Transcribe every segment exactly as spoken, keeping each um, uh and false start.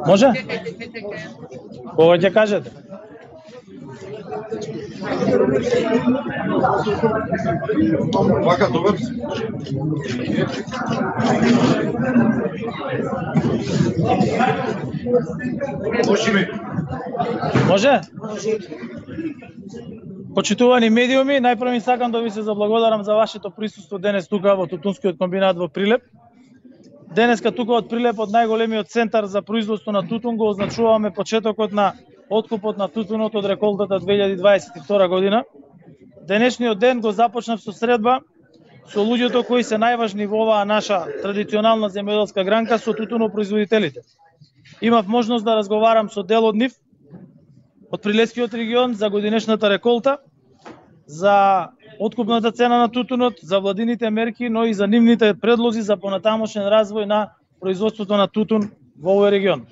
Може? Кога ќе кажете? Вака добар. Може? Може? Почитувани медиуми, најпрво сакам да ви се заблагодарам за вашето присуство денес тука во Тутунскиот комбинат во Прилеп. Денеска тука од Прилеп, од најголемиот центар за производство на тутун, го означуваме почетокот на откупот на тутунот од реколтата две илјади дваесет и втора година. Денешниот ден го започнав со средба со луѓето кои се најважни во оваа наша традиционална земјоделска гранка, со тутунопроизводителите. Имав можност да разговарам со дел од нив од Прилепскиот регион за годинешната реколта, за откупната цена на тутунот, за владините мерки, но и за нивните предлози за понатамошен развој на производството на тутун во овој регион.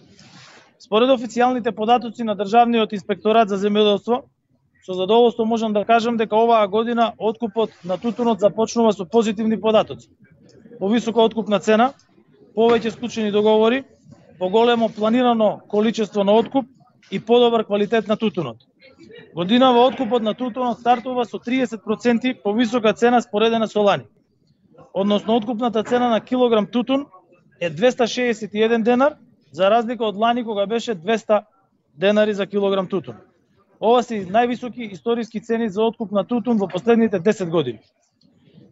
Според официјалните податоци на Државниот инспекторат за земјоделство, со задоволство можам да кажам дека оваа година откупот на тутунот започнува со позитивни податоци. Повисока откупна цена, повеќе склучени договори, поголемо планирано количество на откуп и подобар квалитет на тутунот. Годинава откупот на тутунот стартува со триесет проценти повисока цена споредена со лани. Односно, откупната цена на килограм тутун е двеста шеесет и еден денар, за разлика од лани кога беше двеста денари за килограм тутун. Ова се највисоки историски цени за откуп на тутун во последните десет години.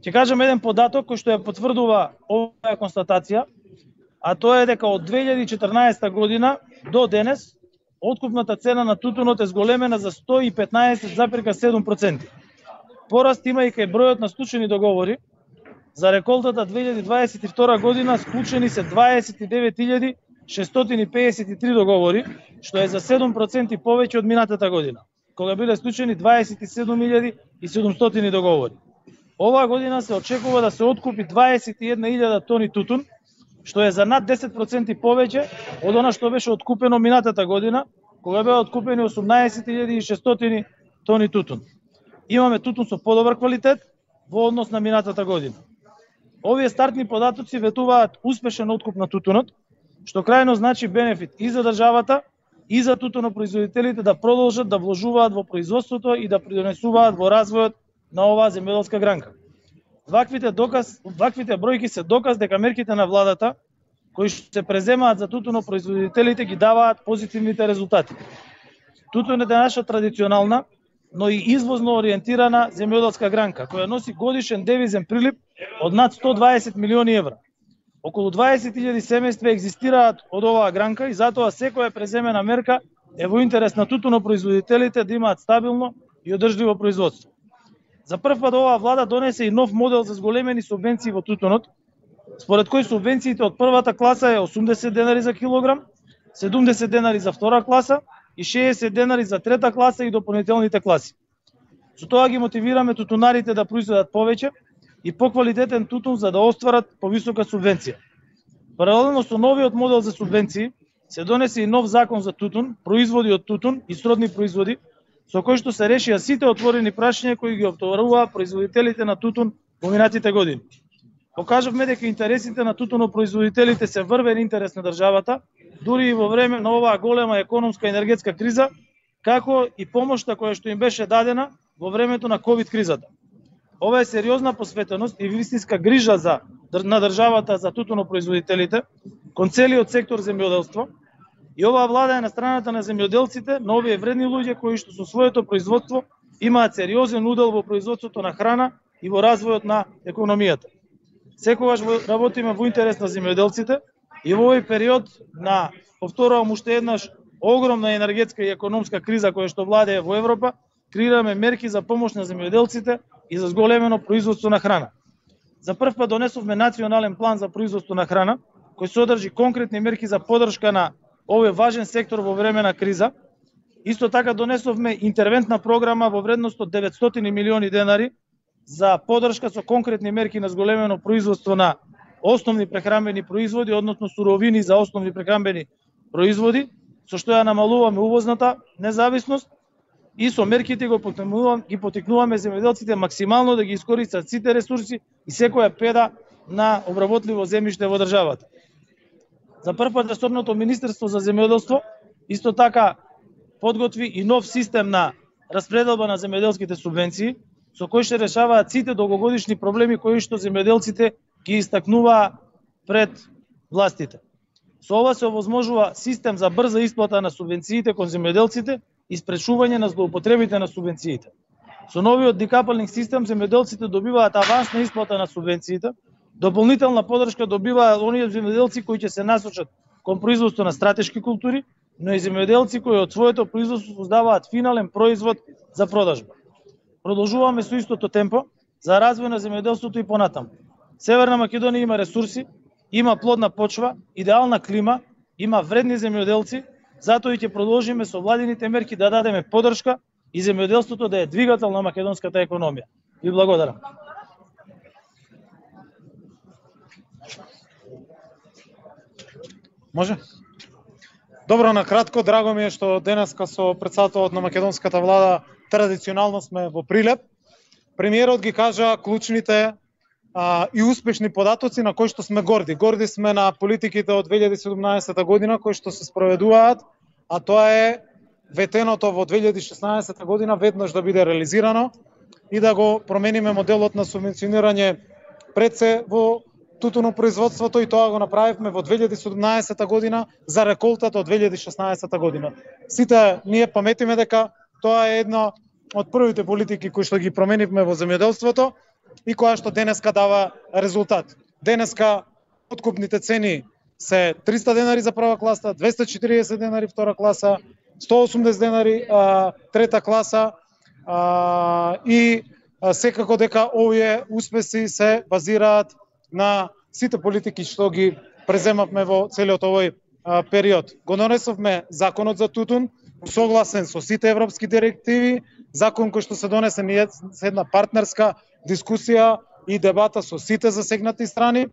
Ќе кажам еден податок кој што ја потврдува оваа констатација, а тоа е дека од две илјади и четрнаесета година до денес откупната цена на тутунот е зголемена за сто и петнаесет запирка седум проценти. Пораст има и кај бројот на склучени договори. За реколтата две илјади дваесет и втора година склучени се дваесет и девет илјади шестстотини и пеесет и три договори, што е за седум проценти повеќе од минатата година, кога биле склучени дваесет и седум илјади и седумстотини договори. Оваа година се очекува да се откупи дваесет и една илјада тони тутун, што е за над десет проценти повеќе од она што беше откупено минатата година, кога беа откупени осумнаесет илјади и шестстотини тони тутун. Имаме тутун со подобар квалитет во однос на минатата година. Овие стартни податоци ветуваат успешен откуп на тутунот, што крајно значи бенефит и за државата, и за тутунопроизводителите да продолжат да вложуваат во производството и да придонесуваат во развојот на оваа земјоделска гранка. Ваквите доказ, ваквите бројки се доказ дека мерките на владата кои што се преземаат за тутунопроизводителите ги даваат позитивните резултати. Тутунот е наша традиционална, но и извозно ориентирана земјоделска гранка, која носи годишен девизен прилив од над сто дваесет милиони евра. Околу дваесет илјади семејства екзистираат од оваа гранка и затоа секоја преземена мерка е во интерес на тутунопроизводителите да имаат стабилно и одржливо производство. За прв пат оваа влада донесе и нов модел за зголемени субвенции во тутунот, според кој субвенциите од првата класа е осумдесет денари за килограм, седумдесет денари за втора класа и шеесет денари за трета класа и дополнителните класи. Со тоа ги мотивираме тутунарите да произведат повеќе и поквалитетен тутун за да остварат повисока субвенција. Паралелно со новиот модел за субвенции се донесе и нов закон за тутун, производи од тутун и сродни производи, со кој што се решија сите отворени прашања кои ги оптоваруваа производителите на тутун во минатите години. Покажавме дека интересите на тутунопроизводителите се врвен интерес на државата, дури и во време на оваа голема економска и енергетска криза, како и помошта која што им беше дадена во времето на ковид кризата. Ова е сериозна посветеност и вистинска грижа за на државата за тутунопроизводителите кон целиот сектор земјоделство. И оваа влада е на страната на земјоделците, на овие вредни луѓе кои што со своето производство имаат сериозен удел во производството на храна и во развојот на економијата. Секогаш работиме во интерес на земјоделците и во овој период на, повторувам уште еднаш, огромна енергетска и економска криза која што владее во Европа, креираме мерки за помош на земјоделците и за зголемено производство на храна. За прв пат донесовме национален план за производство на храна, кој содржи конкретни мерки за поддршка на овој важен сектор во време на криза. Исто така донесовме интервентна програма во вредност од деветстотини милиони денари за поддршка со конкретни мерки на зголемено производство на основни прехранбени производи, односно суровини за основни прехранбени производи, со што ја намалуваме увозната независност и со мерките го потикнуваме, ги потикнуваме земјоделците максимално да ги искористат сите ресурси и секоја педа на обработливо земјиште во државата. За прв пат ресорното Министерство за земјоделство исто така подготви и нов систем на распределба на земјоделските субвенции, со кој ще решаваат сите долгогодишни проблеми кои што земјоделците ги истакнуваа пред властите. Со ова се овозможува систем за брза исплата на субвенциите кон земјоделците и спречување на злоупотребите на субвенциите. Со новиот декапалинг систем земјоделците добиваат авансна исплата на субвенциите, дополнителна подршка добиваат оние земјоделци кои ќе се насочат кон производство на стратешки култури, но и земјоделци кои од своето производство создаваат финален производ за продажба. Продолжуваме со истото темпо за развој на земјоделството и понатаму. Северна Македонија има ресурси, има плодна почва, идеална клима, има вредни земјоделци, затоа и ќе продолжиме со владините мерки да дадеме подршка и земјоделството да е двигател на македонската економија. Ви благодарам. Може? Добро, на кратко, драго ми е што денеска со претседателот на македонската влада традиционално сме во Прилеп. Премиерот ги кажа клучните а, и успешни податоци на кои што сме горди. Горди сме на политиките од две илјади и седумнаесета година кои што се спроведуваат, а тоа е ветеното во две илјади и шеснаесета година веднаш да биде реализирано и да го промениме моделот на субвенционирање пред се во тутунопроизводството, и тоа го направивме во две илјади и седумнаесета година за реколтата од две илјади и шеснаесета година. Сите ние паметиме дека тоа е една од првите политики кои што ги променивме во земјоделството и која што денеска дава резултат. Денеска откупните цени се триста денари за прва класа, двесте и четириесет денари втора класа, сто и осумдесет денари а, трета класа а, и а, секако дека овие успеси се базираат на сите политики што ги преземавме во целиот овој а, период. Го донесовме законот за тутун, согласен со сите европски директиви, закон кој што се донесе ние со една партнерска дискусија и дебата со сите засегнати страни.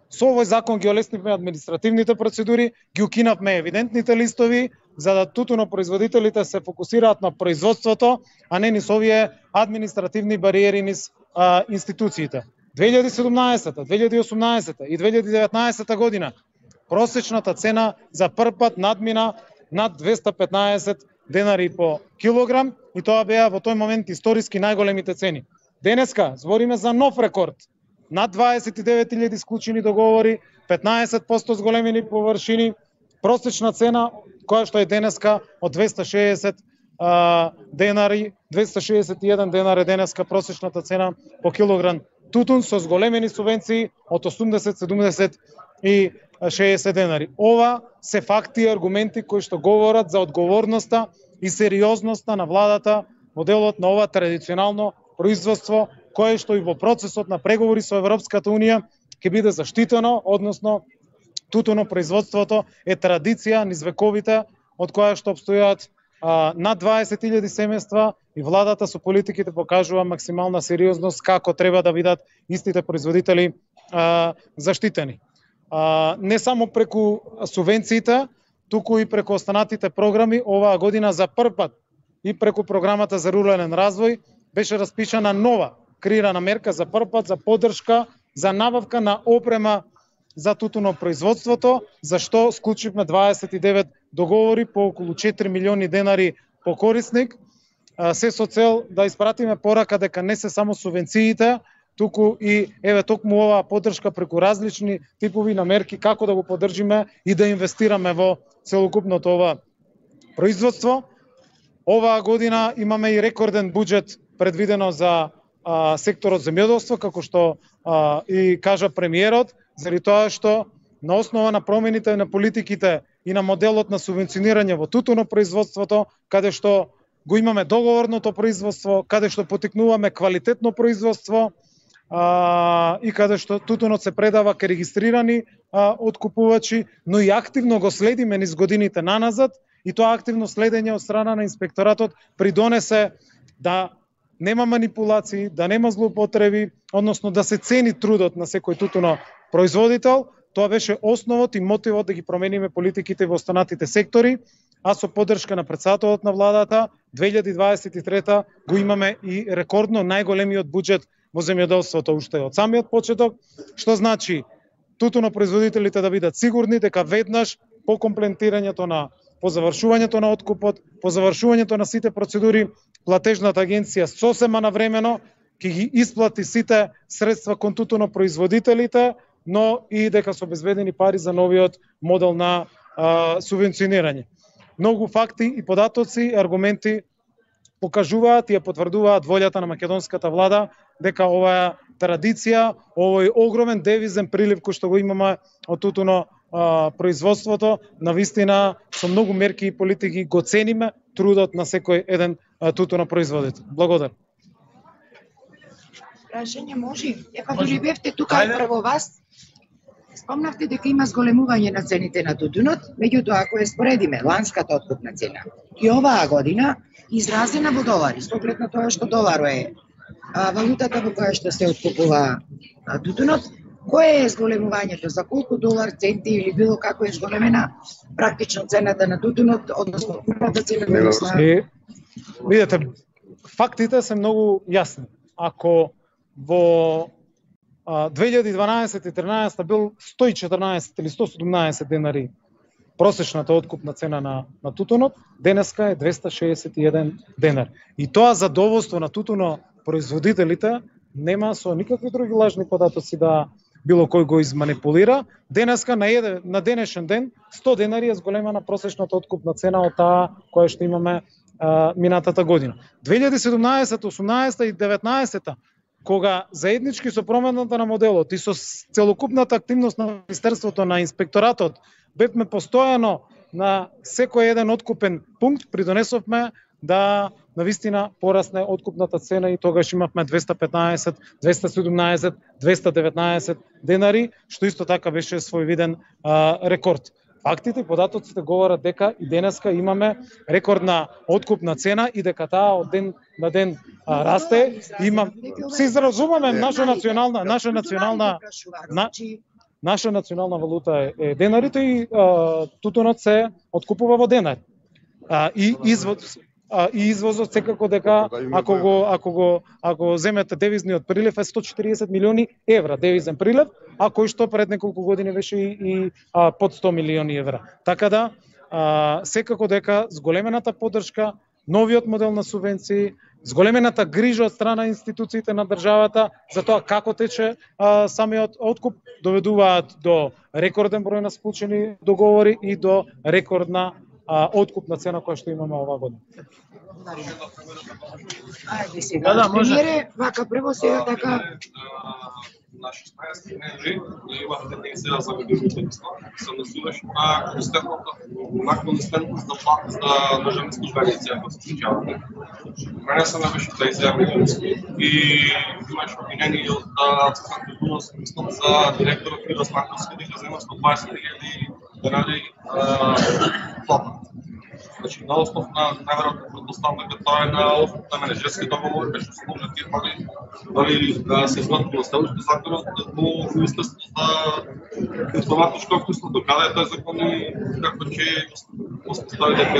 Со овој закон ги олеснивме административните процедури, ги укинавме евидентните листови, за да тутунопроизводителите се фокусираат на производството, а не низ овие административни бариери низ а, институциите. две илјади и седумнаесета, две илјади и осумнаесета и две илјади и деветнаесета година просечната цена за прв пат надмина над двесте и петнаесет денари по килограм и тоа беа во тој момент историски најголемите цени. Денеска збориме за нов рекорд. Над дваесет и девет илјади склучени договори, петнаесет проценти зголемени површини, просечна цена која што е денеска од двесте и шеесет а, денари, двесте и шеесет и еден денар е денеска просечната цена по килограм тутун со зголемени субвенции од осумдесет, седумдесет и шеесет денари. Ова се факти и аргументи кои што говорат за одговорноста и сериозноста на владата во делот на ова традиционално производство, кое што и во процесот на преговори со Европската унија ќе биде заштитено, односно тутунопроизводството е традиција низ вековите од која што обстојат а, над дваесет илјади семејства и владата со политиките покажува максимална сериозност како треба да бидат истите производители а, заштитени. А, не само преку субвенциите, туку и преку останатите програми, оваа година за прв пат и преку програмата за рурален развој беше распишана нова креирана мерка за прв пат за поддршка за набавка на опрема за тутунопроизводството, за што склучивме дваесет и девет договори по околу четири милиони денари по корисник, се со цел да испратиме порака дека не се само субвенциите, туку и еве токму оваа поддршка преку различни типови на мерки како да го поддржиме и да инвестираме во целокупното ова производство. Оваа година имаме и рекорден буџет предвидено за а, секторот земјоделство, како што а, и кажа премиерот, заради тоа што на основа на промените на политиките и на моделот на субвенционирање во тутунопроизводството, каде што го имаме договорното производство, каде што потикнуваме квалитетно производство а, и каде што тутунот се предава кај регистрирани а, откупувачи, но и активно го следиме низ годините наназад, и тоа активно следење од страна на инспекторатот придонесе да нема манипулации, да нема злоупотреби, односно да се цени трудот на секој тутуно производител. Тоа беше основот и мотивот да ги промениме политиките во останатите сектори, а со поддршка на претседателот на владата две илјади дваесет и трета го имаме и рекордно најголемиот буџет во земјоделството уште од самиот почеток, што значи тутунопроизводителите да бидат сигурни дека веднаш по комплетирањето на по завршувањето на откупот, по завршувањето на сите процедури, платежната агенција сосема навремено ќе ги исплати сите средства кон тутунопроизводителите, но и дека се обезбедени пари за новиот модел на а, субвенционирање. Многу факти и податоци, аргументи покажуваат и ја потврдуваат волјата на македонската влада дека оваа традиција, овој огромен девизен прилив кој што го имаме од тутуно а, производството, навистина со многу мерки и политики го цениме трудот на секој еден а, тутуно производител. Благодарам. Прашање може? Епа дори бевте тука прво вас, спомнавте дека има зголемување на цените на тутунот, меѓутоа ако ја споредиме ланската откупна цена и оваа година изразена во долари, со оглед на тоа што доларо е а, валутата во која што се откупува а, тутунот, кое е зголемувањето, за колку долар, центи или било како е зголемена практично цената на тутунот, односно откупната цена во односно? Видете, фактите се многу јасни. Ако во две илјади и дванаесет и тринаесет бил сто и четрнаесет или сто седумнаесет денари просечната откупна цена на, на тутунот, денеска е двесте шеесет и еден денар. И тоа задоволство на тутуно производителите нема со никакви други лажни податоци да било кој го изманипулира. Денеска на, еден, на денешен ден сто денари е зголемена просечната откупна цена од таа која што имаме а, минатата година. две илјади и седумнаесета, осумнаесета и деветнаесета кога заеднички со промената на моделот и со целокупната активност на Министерството на инспекторатот бевме постојано на секој еден откупен пункт, придонесовме да навистина порасне откупната цена и тогаш имавме двесте петнаесет, двесте седумнаесет, двесте деветнаесет денари, што исто така беше својвиден а, рекорд. Фактите и податоците говорат дека и денеска имаме рекордна откупна цена и дека таа од ден на ден а, расте. Има се изразумеме наша национална наша национална на, наша национална валута е, е денарите и а, тутунот се откупува во денари. А, и извоз а, и извозот секако дека ако го ако го ако земете девизниот прилив е сто и четириесет милиони евра девизен прилив, а кој што пред неколку години беше и, и а, под сто милиони евра. Така да а, секако дека зголемената поддршка, новиот модел на субвенции, зголемената грижа од страна институциите на државата за тоа како тече а, самиот откуп доведуваат до рекорден број на склучени договори и до рекордна а, откупна цена која што имаме оваа година. Ајде сега, да, да, премиере, вака прво сега така наши стајски менеджери, имате тензија за годините се насуваш на константната константност на плата за државни службеници, ако се случавате. Мене се беше тензија милионски и имаш обвинение од Централната дуност за директорот Мирос Марковски дека зема сто дваесет илјади денари плата. Значи, на основ на најверојатно предпоставка дека тоа е на основ на менеджерски договор, беше сложен тие пари, дали се изготвило следващото законот во Министерството за информатичко општество, каде е тој закон и како ќе постави дека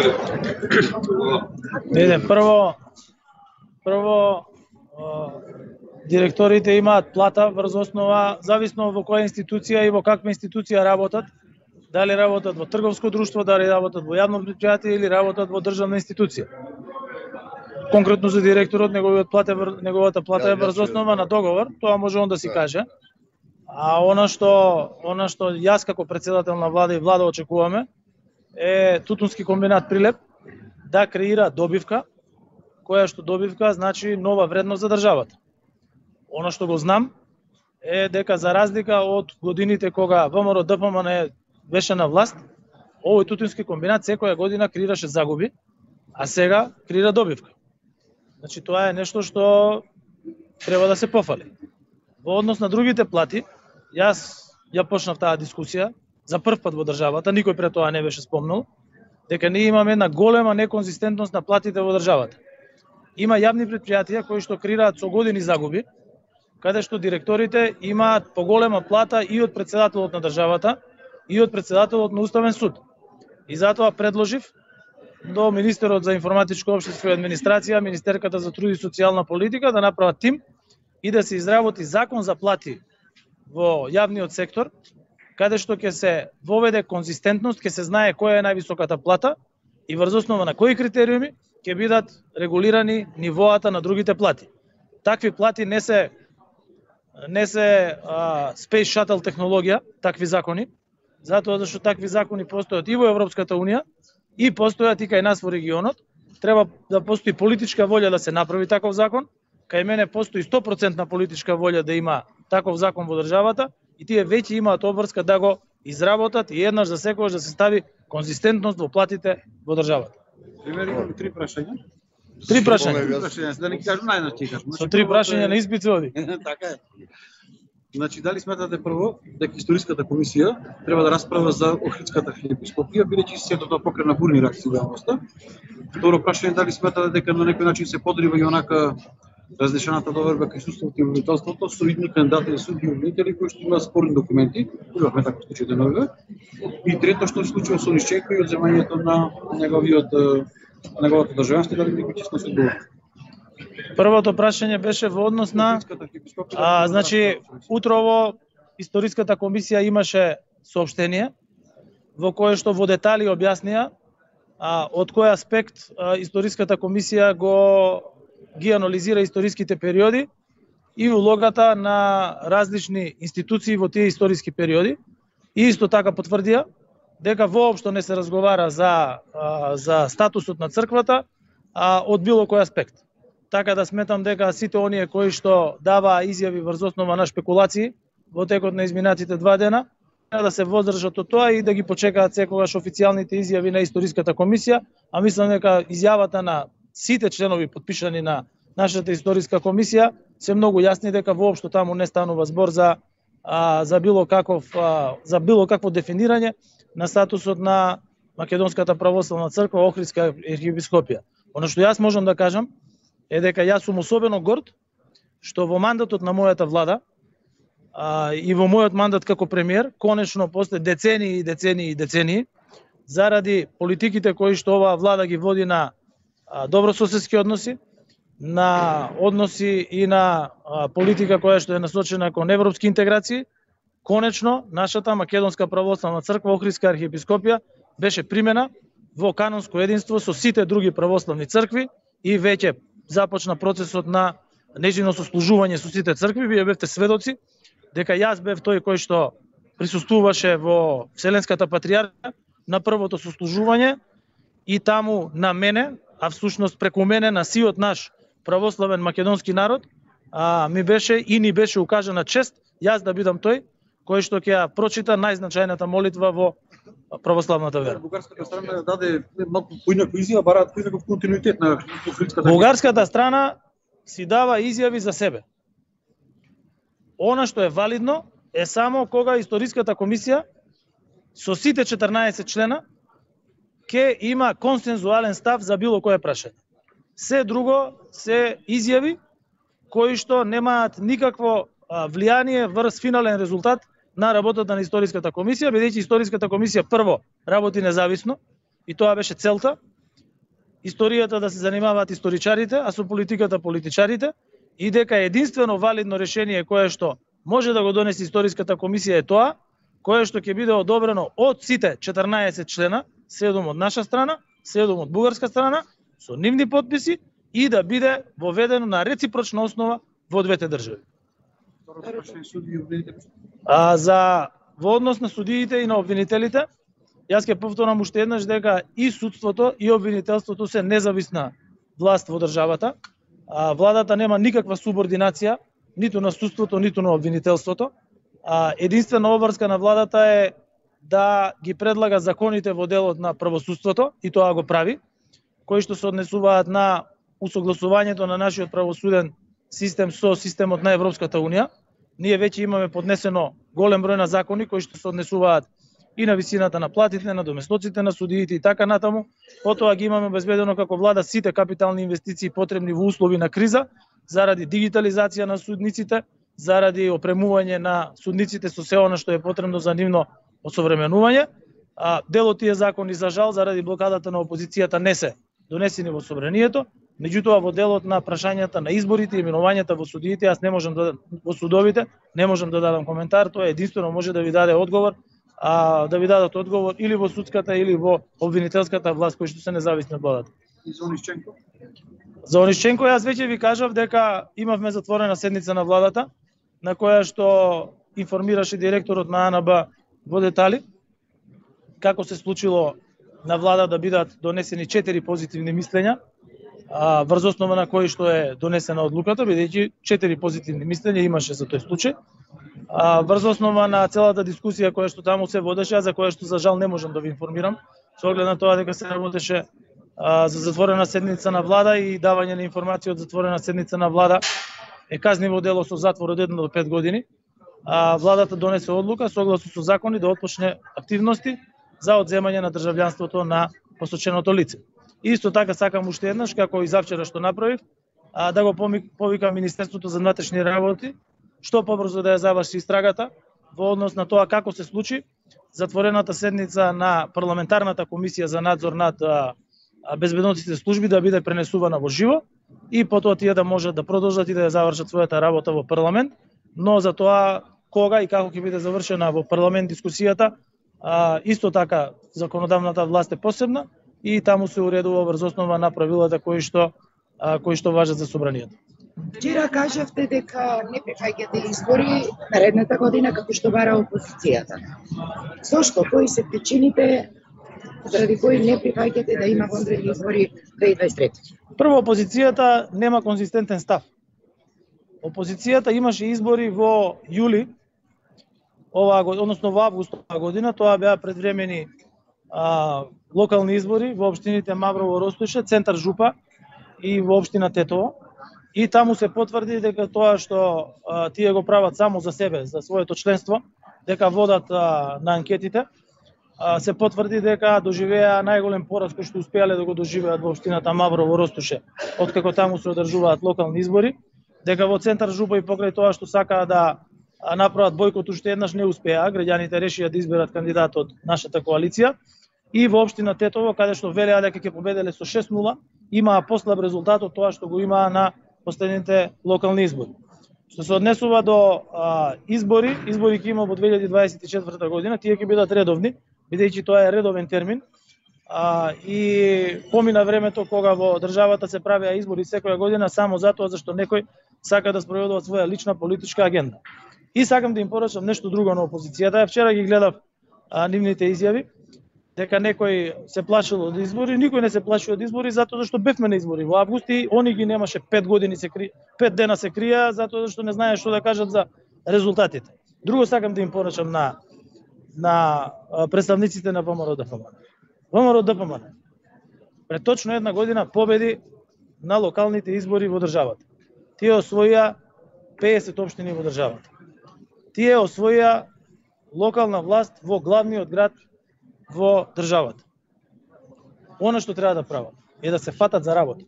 Виде, прво прво директорите имаат плата врз основа зависно во која институција и во каква институција работат. Дали работат во трговско друштво, дали работат во јавно претпријатие или работат во државна институција. Конкретно за директорот, неговиот плата, неговата плата е врз основа на договор, тоа може он да си каже. А она што, она што јас како председател на влада и влада очекуваме е Тутунски комбинат Прилеп да креира добивка, која што добивка значи нова вредност за државата. Она што го знам е дека за разлика од годините кога ВМРО Д П М Н беше на власт, овој Тутунски комбинат секоја година креираше загуби, а сега креира добивка. Значи тоа е нешто што треба да се пофали. Во однос на другите плати, јас ја почнав таа дискусија за прв пат во државата, никој пред тоа не беше спомнал, дека ние имаме една голема неконзистентност на платите во државата. Има јавни претпријатија кои што креираат со години загуби, каде што директорите имаат поголема плата и од председателот на државата, и од председателот на Уставен суд. И затоа предложив до министерот за информатичко општество и администрација, министерката за труд и социјална политика да направат тим и да се изработи закон за плати во јавниот сектор, каде што ќе се воведе конзистентност, ќе се знае која е највисоката плата и врз основа на кои критериуми ќе бидат регулирани нивоата на другите плати. Такви плати не се не се а, Space Shuttle технологија, такви закони, затоа зашто такви закони постојат и во Европската унија и постојат и кај нас во регионот. Треба да постои политичка волја да се направи таков закон. Кај мене постои сто проценти политичка волја да има таков закон во државата и тие веќе имаат обврска да го изработат и еднаш за секогаш да се стави конзистентност во платите во државата. Пример, имаме три прашања. Три прашања. Три прашања, да не ги кажам најнаш ти кажам. Со три прашања на испит се оди. Така е. Значи, дали сметате прво дека историската комисија треба да расправа за Охридската архиепископија, бидејќи се тоа покрена бурни реакции во јавноста? Второ прашање, дали сметате дека на некој начин се подрива и онака разнешената доверба кај судството и обвинителството со идни кандидати за судии и обвинители кои што имаат спорни документи, имавме таков случај деновиве. И трето, што се случува со Онишченко и одземањето на неговиот неговото државенство, дали некој ќе сноси одговорност? Првото прашање беше во однос на а, значи утрово историската комисија имаше соопштение во кое што во детали објаснија а, од кој аспект а, историската комисија го ги анализира историските периоди и улогата на различни институции во тие историски периоди. И исто така потврдија дека воопшто не се разговара за а, за статусот на црквата а, од било кој аспект. Така да сметам дека сите оние кои што даваа изјави врз основа на шпекулации во текот на изминатите два дена, да се воздржат од тоа и да ги почекаат секогаш официјалните изјави на историската комисија, а мислам дека изјавата на сите членови подпишани на нашата историска комисија се многу јасни дека воопшто таму не станува збор за а, за било каков а, за било какво дефинирање на статусот на Македонската православна црква, Охридска архиепископија. Оно што јас можам да кажам е дека јас сум особено горд што во мандатот на мојата влада а, и во мојот мандат како премиер, конечно после децении и децении и децении, заради политиките кои што оваа влада ги води на а, добрососедски односи, на односи и на а, политика која што е насочена кон европски интеграции, конечно нашата Македонска православна црква, Охридска архиепископија беше примена во канонско единство со сите други православни цркви и веќе започна процесот на нејзино сослужување со сите цркви. Вие бевте сведоци дека јас бев тој кој што присуствуваше во Вселенската патријархија на првото сослужување и таму на мене, а всушност преку мене на сиот наш православен македонски народ, а, ми беше и ни беше укажана чест јас да бидам тој кој што ќе ја прочита најзначајната молитва во православната вера. Бугарската страна даде малку поинаква изјава, бараат поинаков континуитет на Охридската. Бугарската страна си дава изјави за себе. Она што е валидно е само кога историската комисија со сите четрнаесет члена ќе има консензуален став за било кое прашање. Се друго се изјави кои што немаат никакво влијание врз финален резултат на работата на историската комисија, бидејќи историската комисија прво работи независно и тоа беше целта. Историјата да се занимаваат историчарите, а со политиката политичарите, и дека единствено валидно решение кое што може да го донесе историската комисија е тоа, кое што ќе биде одобрено од сите четрнаесет члена, седум од наша страна, седум од бугарска страна, со нивни подписи и да биде воведено на реципрочна основа во двете држави. А за во однос на судиите и на обвинителите, јас ќе повторам уште еднаш дека и судството и обвинителството се независна власт во државата. А, владата нема никаква субординација ниту на судството, ниту на обвинителството. А, единствена обврска на владата е да ги предлага законите во делот на правосудството и тоа го прави, кои што се однесуваат на усогласувањето на нашиот правосуден систем со системот на Европската унија. Ние веќе имаме поднесено голем број на закони кои што се однесуваат и на висината на платите, на доместоците на судиите и така натаму. Потоа ги имаме обезбедено како влада сите капитални инвестиции потребни во услови на криза, заради дигитализација на судниците, заради опремување на судниците со се она што е потребно за нивно осовременување. А дел од тие закони за жал заради блокадата на опозицијата не се донесени во собранието, Меѓутоа во делот на прашањата на изборите и именувањата во судиите, јас не можам да во судовите, не можам да дадам коментар, тоа единствено може да ви даде одговор, а да ви дадат одговор или во судската или во обвинителската власт кои што се независни од владата. И за Онишченко? За Онишченко јас веќе ви кажав дека имавме затворена седница на владата на која што информираше директорот на А Н Б во детали како се случило на влада да бидат донесени четири позитивни мислења, врз основа на кои што е донесена одлуката, бидејќи четири позитивни мислења имаше за тој случај. Врз основа на целата дискусија која што таму се водеше, за која што за жал не можам да ви информирам, со оглед на тоа дека се работеше за затворена седница на влада и давање на информација од затворена седница на влада е казниво дело со затвор од една до пет години. Владата донесе одлука согласно со закони да отпочне активности за одземање на државјанството на посоченото лице. Исто така сакам уште еднаш, како и завчера што направив, да го повикам Министерството за внатрешни работи, што побрзо да ја заврши истрагата во однос на тоа како се случи затворената седница на парламентарната комисија за надзор над безбедносните служби да биде пренесувана во живо и потоа тие да можат да продолжат и да ја завршат својата работа во парламент, но за тоа кога и како ќе биде завршена во парламент дискусијата, исто така законодавната власт е посебна и таму се уредува врз основа на правилата кои што кои што важат за собранието. Вчера кажавте дека не прифаќате избори наредната година како што бара опозицијата. Зошто? Кои се причините заради кои не прифаќате да има вонредни избори две илјади дваесет и трета? Прво, опозицијата нема конзистентен став. Опозицијата имаше избори во јули оваа година, односно во август оваа година, тоа беа предвремени а, локални избори во општините Маврово, Ростуше, Центар Жупа и во општина Тетово. И таму се потврди дека тоа што а, тие го прават само за себе, за своето членство, дека водат а, на анкетите, а, се потврди дека доживеа најголем пораз кој што успеале да го доживеат во општината Маврово, Ростуше, откако таму се одржуваат локални избори, дека во Центар Жупа и покрај тоа што сакаа да направат бојкот уште еднаш не успеа, граѓаните решија да изберат кандидат од нашата коалиција, и во општина Тетово, каде што велеа дека ќе победеле со шест нула, имаа послаб резултат од тоа што го имаа на последните локални избори. Што се однесува до а, избори, избори ќе има во две илјади дваесет и четврта година, тие ќе бидат редовни, бидејќи тоа е редовен термин, а, и помина времето кога во државата се правеа избори секоја година само затоа зашто некој сака да спроведува своја лична политичка агенда. И сакам да им порачам нешто друго на опозицијата. Вчера ги гледав а, нивните изјави, дека некој се плашил од избори, никој не се плаши од избори затоа зашто бевме на избори во август и они ги немаше пет години се кри... пет дена се крија затоа зашто не знае што да кажат за резултатите. Друго сакам да им порачам на на представниците на ВМРО ДПМН. ВМРО ДПМН пред точно една година победи на локалните избори во државата. Тие освоија педесет општини во државата. Тие освоија локална власт во главниот град во државата. Она што треба да прават е да се фатат за работа.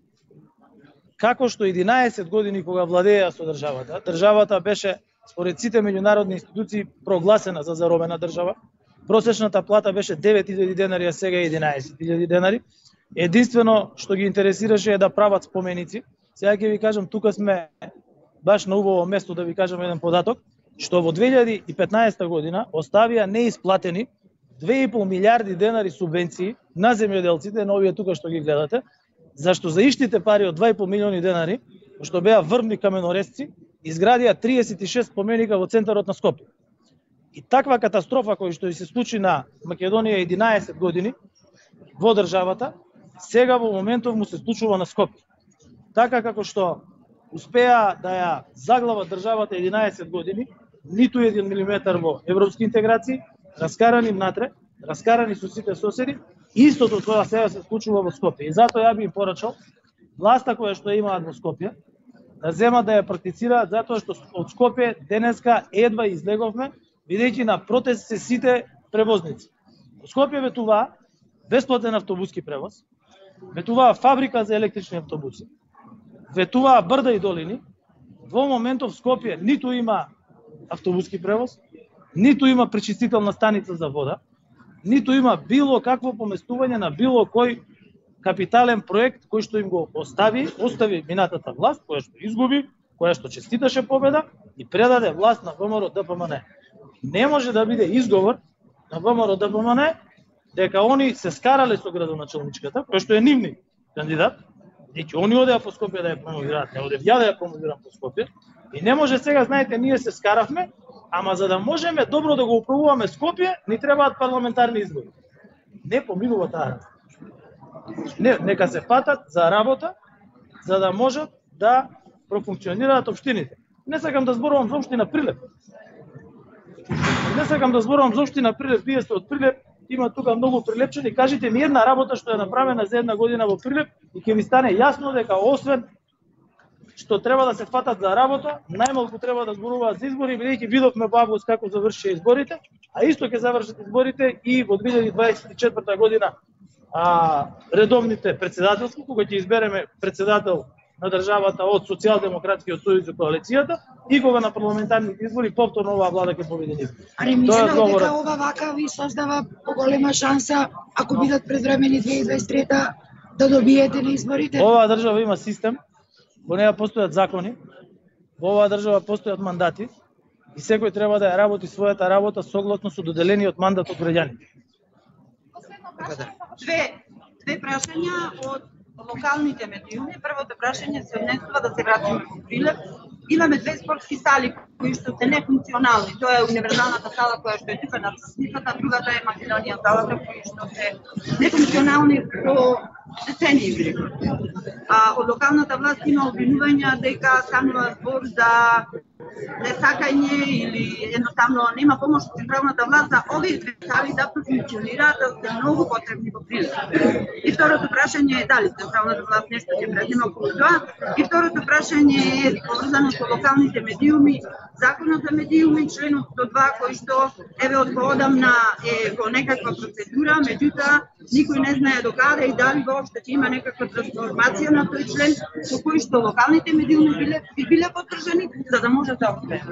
Како што единаесет години кога владееа со државата, државата беше според сите меѓународни институции прогласена за заробена држава. Просечната плата беше девет илјади денари, а сега е единаесет илјади денари. Единствено што ги интересираше е да прават споменици. Сега ќе ви кажам, тука сме баш на убаво место да ви кажам еден податок, што во две илјади и петнаесета година оставија неисплатени две и пол милијарди денари субвенции на земјоделците, на овие тука што ги гледате, зашто за иштите пари од два и пол милиони денари, што беа врвни каменорезци, изградија триесет и шест споменика во центарот на Скопје. И таква катастрофа која што се случи на Македонија единаесет години во државата, сега во моментов му се случува на Скопје. Така како што успеа да ја заглава државата единаесет години, ниту еден милиметар во европски интеграции, раскарани внатре, раскарани со сите соседи, истото тоа сега се случува во Скопје. И затоа ја би им порачал власта која што имаат во Скопје да земат да ја практицираат, затоа што од Скопје денеска едва излеговме, бидејќи на протест се сите превозници. Во Скопје ветуваа бесплатен автобуски превоз, ветуваа фабрика за електрични автобуси, ветуваа брда и долини. Во моментов Скопје ниту има автобуски превоз, ниту има пречистителна станица за вода, ниту има било какво поместување на било кој капитален проект кој што им го остави, остави минатата власт, која што изгуби, која што честиташе победа и предаде власт на ВМРО Д П М Н. Не може да биде изговор на ВМРО Д П М Н дека они се скарале со градоначалничката, која што е нивни кандидат, и они одеа по Скопје да ја промовираат, не одев ја да ја промовирам по Скопје. И не може сега, знаете, ние се скаравме, ама за да можеме добро да го управуваме Скопје, ни требаат парламентарни избори. Не поминува таа. Не, нека се фатат за работа, за да можат да профункционираат општините. Не сакам да зборувам за општина Прилеп. Не сакам да зборувам за општина Прилеп, вие сте од Прилеп, има тука многу прилепчани, кажете ми една работа што е направена за една година во Прилеп и ќе ви стане јасно дека освен што треба да се фатат за работа, најмалку треба да зборуваат за избори, бидејќи видовме во август како завршија изборите, а исто ќе завршат изборите и во две илјади дваесет и четврта година а, редовните председателски, кога ќе избереме председател на државата од Социјалдемократскиот сојуз и коалицијата и кога на парламентарните избори повторно оваа влада ќе победи нив. А не мислите дека ова вака ви создава поголема шанса ако бидат предвремени две илјади дваесет и трета да добиете на изборите? Оваа држава има систем, во неја постојат закони, во оваа држава постојат мандати и секој треба да ја работи својата работа согласно со доделениот мандат од граѓаните. Две две прашања од локалните медиуми. Првото прашање се однесува да се вратиме во Прилеп. Имаме две спортски сали кои што се нефункционални. Тоа е универзалната сала која што е тука на Сосницата, другата е Македонија залата кои што се нефункционални по децении. А од локалната власт има обвинувања дека станува збор за несакање или едноставно нема помош од централната власт за овие две сали да функционираат, да се многу потребни во Прилеп. И второто прашање е дали централната власт нешто ќе предземе околу тоа. И второто прашање е поврзано со локалните медиуми, законот за медиуми, членот сто два кој што еве од поодамна е во некаква процедура, меѓутоа никој не знае до каде и дали воопшто ќе има некаква трансформација на тој член со кој што локалните медиуми биле би биле поддржани за да може да успее.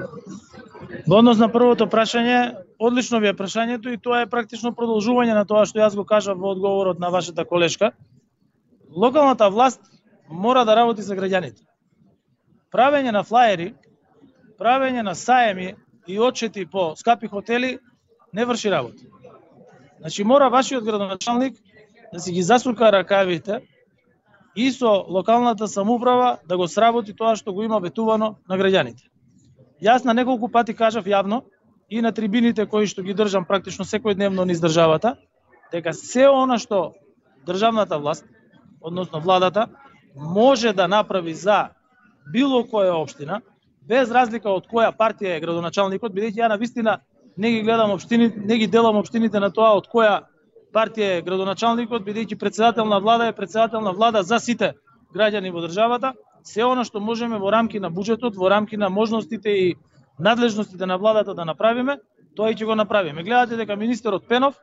Во однос на првото прашање, одлично ви е прашањето и тоа е практично продолжување на тоа што јас го кажав во одговорот на вашата колешка. Локалната власт мора да работи за граѓаните. Правење на флаери, правење на саеми и отчети по скапи хотели не врши работа. Значи мора вашиот градоначалник да си ги засука ракавите и со локалната самоуправа да го сработи тоа што го има ветувано на граѓаните. Јас на неколку пати кажав јавно и на трибините кои што ги држам практично секојдневно низ државата, дека се она што државната власт, односно владата, може да направи за било која општина, без разлика од која партија е градоначалникот, бидејќи ја навистина не ги гледам општините, не ги делам општините на тоа од која партија е градоначалникот, бидејќи председател на влада е председател на влада за сите граѓани во државата. Се она што можеме во рамки на буџетот, во рамки на можностите и надлежностите на владата да направиме, тоа и ќе го направиме. Гледате дека министерот Пенов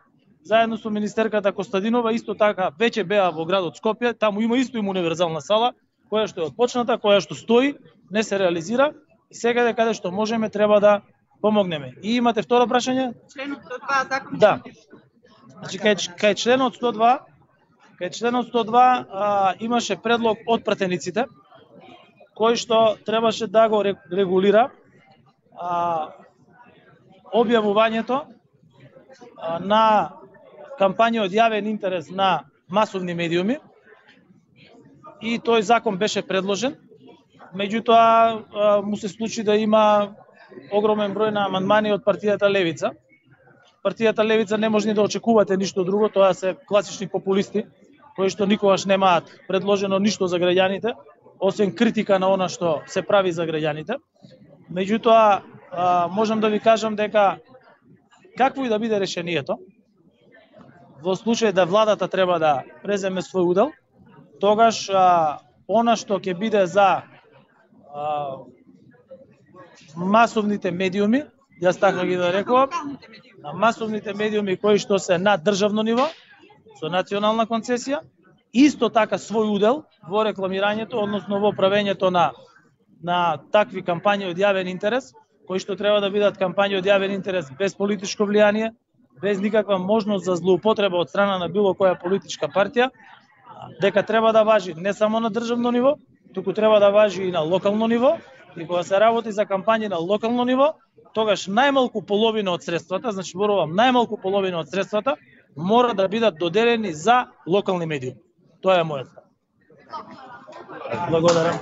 заедно со министерката Костадинова исто така веќе беа во градот Скопје, таму има исто им универзална сала, која што е отпочната, која што стои, не се реализира и сега дека каде што можеме треба да помогнеме. И имате второ прашање? Членот сто два закон. Да. Значи кај, кај членот сто два, кај членот сто два а, имаше предлог од пратениците кој што требаше да го регулира а, објавувањето а, на кампања од јавен интерес на масовни медиуми и тој закон беше предложен, меѓутоа му се случи да има огромен број на амандмани од партијата Левица. Партијата Левица не може ни да очекувате ништо друго, тоа се класични популисти кои што никогаш немаат предложено ништо за граѓаните, освен критика на она што се прави за граѓаните. Меѓутоа, можам да ви кажам дека какво и да биде решението, во случај да владата треба да преземе свој удел, тогаш а, она што ќе биде за а, масовните медиуми, јас така ги да рекувам, на масовните медиуми кои што се на државно ниво, со национална концесија, исто така свој удел во рекламирањето, односно во правењето на на такви кампањи од јавен интерес, кои што треба да бидат кампањи од јавен интерес без политичко влијание, без никаква можност за злоупотреба од страна на било која политичка партија дека треба да важи не само на државно ниво, туку треба да важи и на локално ниво, и кога се работи за кампањи на локално ниво, тогаш најмалку половина од средствата, значи зборувам најмалку половина од средствата, мора да бидат доделени за локални медиуми. Тоа е мојот став. Благодарам.